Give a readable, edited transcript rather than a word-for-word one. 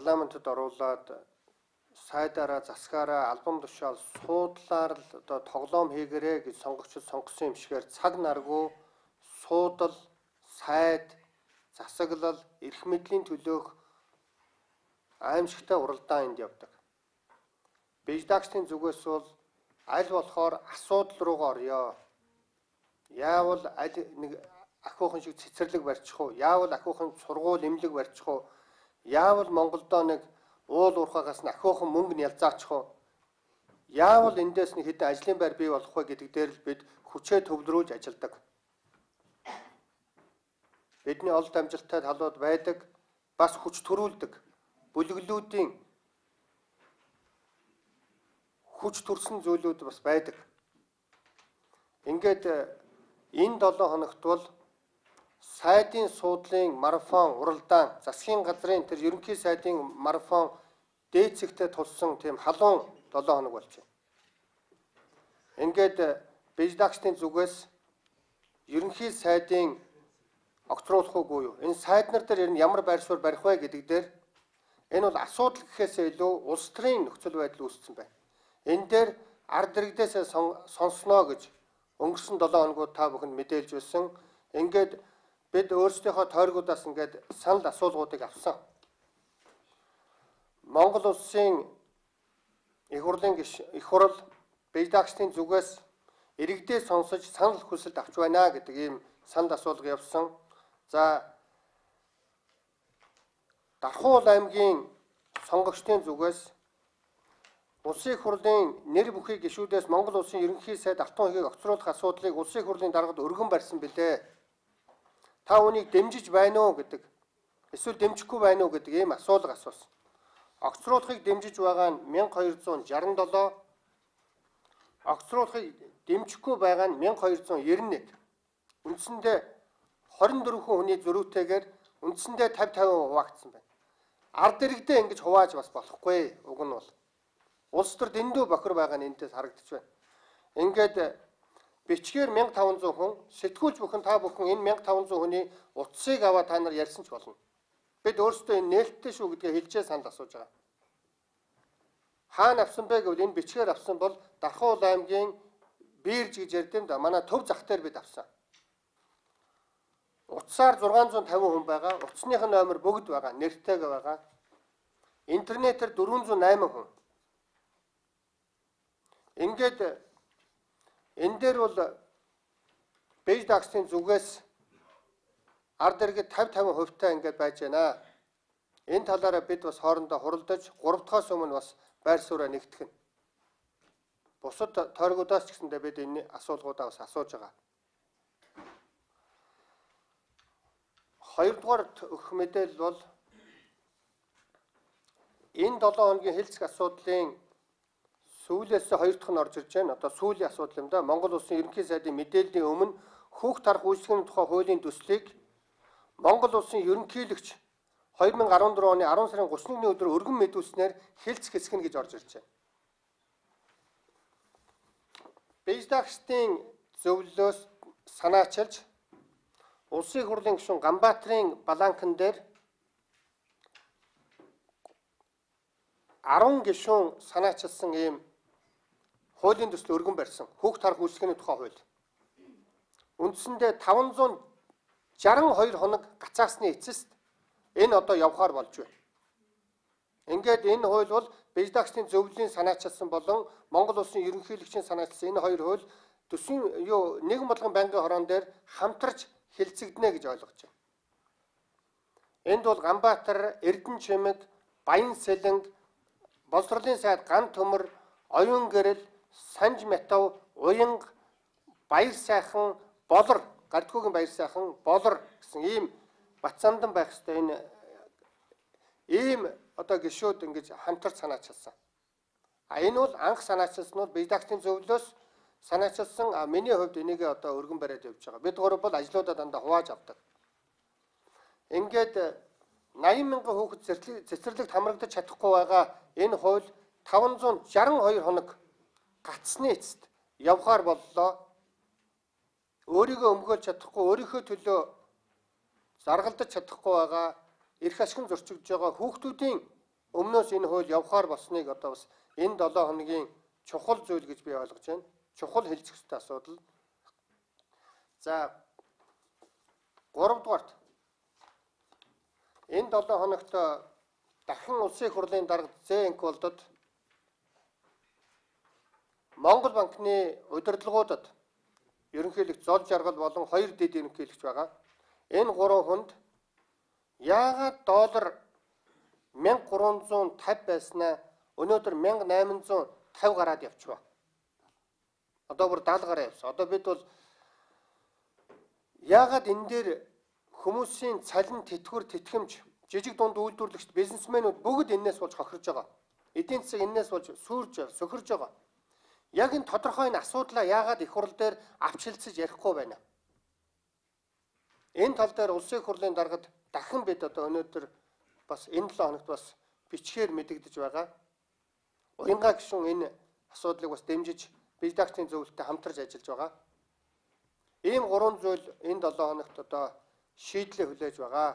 парламентод оруулаад сайдаараа засгаараа албан тушаал суудлаар л одоо тоглоом хийгэрээ гэж сонгогчид сонгосон юм шигээр цаг наргүй суудал, сайд, засаглал, эрх мэдлийн төлөөх аимшигтай уралдаан энд явдаг. Биждагчдын зүгээс бол аль болохоор асуудал руугаа орё. Яавал аль нэг ахиухан шиг цэцэрлэг барьчих уу? Яавал ахиухан сургууль эмнэлэг барьчих уу? Яавал Монголдоо нэг уул уурхаагаас нь ахиухан мөнгө нь ялзаачих уу? Яавал эндээс нэг хэдэн ажлын байр бий болох вэ гэдэг дээр л бид хүчээ төвлөрүүлж ажилладаг. Бидний олд амжилттай талууд байдаг, бас хүч төрүүлдэг. Бүлэглүүдийн хүч төрсэн зүйлүүд бас байдаг. Ингээд энэ 7 хоногт бол сайдын суудлын марафон уралдаан, засгийн газрын тэр ерөнхий сайдын марафон дээд зэгтээ тулсан тийм халуун 7 хоног болж байна. Ингээд биждагчдын зүгээс ерөнхий сайдын огцруулах уугүй юу? Энэ сайд нар дээр ямар байр суурь барих вэ гэдэг дээр энэ бол асуудал гэхээсээ илүү улс төрийн нөхцөл байдал үүссэн байна. Энэ дээр ард иргэдээс сонсноо гэж өнгөрсөн 7 хоногуд та бүхэнд мэдээлж байсан. Ингээд бид өөрсдийнхөө тойргуудаас ингээд санал асуулгуудыг авсан. Монгол улсын их хурл биждагчдын зүгээс иргэдээ сонсож санал хүсэлт авч байна гэдэг ийм санал асуулга явсан. За Дархуул аймгийн сонгогчдын зүгээс улсын их хурлын нэр бүхий гишүүдээс Монгол улсын ерөнхий сайд автон хийг огцруулах асуудлыг улсын их хурлын даргад өргөн барьсан билээ. Та үнийг дэмжиж байна уу гэдэг, эсвэл дэмжихгүй байна уу гэдэг ийм асуулга асуусан. Огцруулахыг дэмжиж байгаа нь 1267, огцруулахыг дэмжихгүй байгаа нь 1291. Үндсэндээ 24 хүний зөрүүтэйгээр үндсэндээ 50-50% хуваагдсан байна. Ард иргэдээ ингэж хувааж бас болохгүй. Уг нь бол улс төр дэндүү бохир байгаа нь энэс харагдаж байна. Ингээд бичгээр 1500 хүн, сэтгүүлч бүхэн та бүхэн энэ 1500 хүний утсыг аваад та нар ярьсан ч болно. Бид өөрсдөө энэ нээлттэй шүү гэдгээ хэлжээ санал асууж байгаа. Хаана авсан бэ гэвэл энэ бичгээр авсан бол Дархуул аймгийн Бирж гэж ярьд юм да. Манай төв зах дээр бид авсан. Утсаар 650 хүн байгаа. Утасных номер бүгд байгаа. Нэртэйг байгаа. Интернетээр 408 хүн. Ингээд энэ дээр бол биждагчдын зүгээс ард иргэд 50-50% таа ингээд байж байна. Энэ талаараа бид бас хоорондоо хуралдаж 3 дахь өмнө бас байр сууриа нэгтгэх нь. Бусад тойргуудаас ч гэсэндээ бид энэ асуулгуудаа бас асууж байгаа. Хоёрдугаар өгөх мэдээлэл бол энэ 7 хоногийн хэлцэх асуудлын сүүлээс хоёр дахь нь орж ирж байна. Одоо сүүлийн асуудал юм да. Монгол улсын ерөнхий сайдын мэдээллийн өмнө хүүхд тарах үйлчлэгийн тухай хуулийн төслийг Монгол улсын ерөнхийлөгч 2014 оны 10 сарын 31-ний өдөр өргөн мэдүүлснээр хэлцэх хэсгэн гэж орж ирж байна. Биждагчдын зөвлөлөөс санаачилж улсын их хурлын гишүүн Ганбаатрын баланкан дээр 10 гишүүн санаачилсан ийм хуулийн төсөл өргөн барьсан хүүхд тарах үйлчлэгээний тухай хууль. Үндсэндээ 562 хоног гацаасны эцэст энэ одоо явахаар болж байна. Ингээд энэ хууль бол биждагчдын зөвлөлийн санаачилсан болон Монгол улсын ерөнхийлөгчийн санаачилсан энэ хоёр хууль төсвийн нэгэн бодлогын байнгын хорон дээр хамтарч хэлцэгдэнэ гэж ойлгож байна. Энд бол Ганбаатар, Эрдэнэчимэг, Баян Сэлэнг, Боловсролын сайд Ган Төмөр, Оюун гэрэл, Санж Метав, Уянга, Баяр сайхан, Болор, Гардгуугийн Баяр сайхан, Болор гэсэн ийм Батсандан байх ёстой энэ ийм одоо гишүүд ингэж хамтарч санаачилсан. Энэ бол анх санаачилсан бол биждагчдын зөвлөлөөс санаачилсан. Миний хувьд энийг одоо өргөн бариад явж байгаа. Бид гурав бол ажлуудаа дандаа хувааж авдаг. Ингээд 80 мянган хүүхэд цэцэрлэгт хамрагдаж чадахгүй байгаа энэ хууль 562 хоног гацсны эцэст явахаар боллоо. Өөрийгөө өмгөөлж чадахгүй, өөрийнхөө төлөө заргалдаж чадахгүй байгаа, эрх ашигн зөрчигдөж байгаа хүүхдүүдийн өмнөөс энэ хууль явахаар болсныг одоо бас энэ 7 хоногийн чухал зүйл гэж би ойлгож байна. Чухал хэлцэх ёстой асуудал. За 3 дугаарт энэ 7 хоногт дахин улсын их хурлын дарга ЗНК болдод Монгол банкны удирдлагуудад ерөнхийлөгч Зол Жаргал болон 2 дэд ерөнхийлөгч байгаа. Энэ 3 хүнд яагаад доллар 1350 байснаа өнөөдөр 1850 гараад явчихва. Одоо бүр 70 гараа явсан. Одоо бид бол яагаад энэ дээр хүмүүсийн цалин тэтгэвэр тэтгэмж жижиг дунд үйлдвэрлэгч бизнесмэнүүд бүгд энээс болж хохирж байгаа. Эдийн засаг энээс болж сүрж сөхөрж байгаа. Яг энэ тодорхой энэ асуудлаа яагаад их хурл дээр авчилцаж ярихгүй байна. Энэ тал дээр улсын их хурлын даргад дахин бид одоо өнөөдөр бас энэ 7 хоногт бас бичгээр мэдэгдэж байгаа. Уянгаа гишүүн энэ асуудлыг бас дэмжиж редакцийн зөвлөлтөд хамтарч ажиллаж байгаа. Ийм 3 зүйл энэ 7 хоногт одоо шийдлээ хүлээж байгаа.